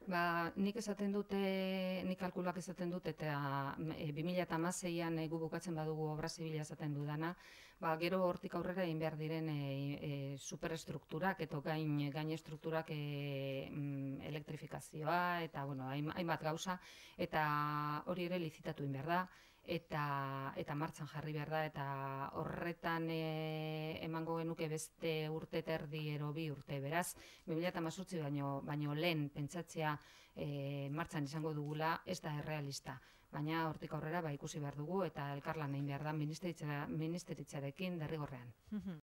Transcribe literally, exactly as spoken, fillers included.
Ba, nik esaten dute, nik kalkuluak esaten dut, eta e, bi mila hamaseian e, gu bukatzen badugu obra zibila esaten dudana, ba, gero hortik aurrera egin behar diren e, e, superestrukturak, eta gain, gain estrukturak e, mm, elektrifikazioa, eta bueno, hain- hainbat gauza, eta hori ere lizitatu egin behar da, eta eta martxan jarri behar da, eta horretan e, emango genuke beste urte eta erdi ero bi urte, beraz, bi mila hemezortzi baino, baino lehen pentsatzea e, martxan izango dugula ez da errealista. Baina hortik aurrera ba, ikusi behar dugu eta elkarlan egin behar da ministeritzarekin derrigorrean.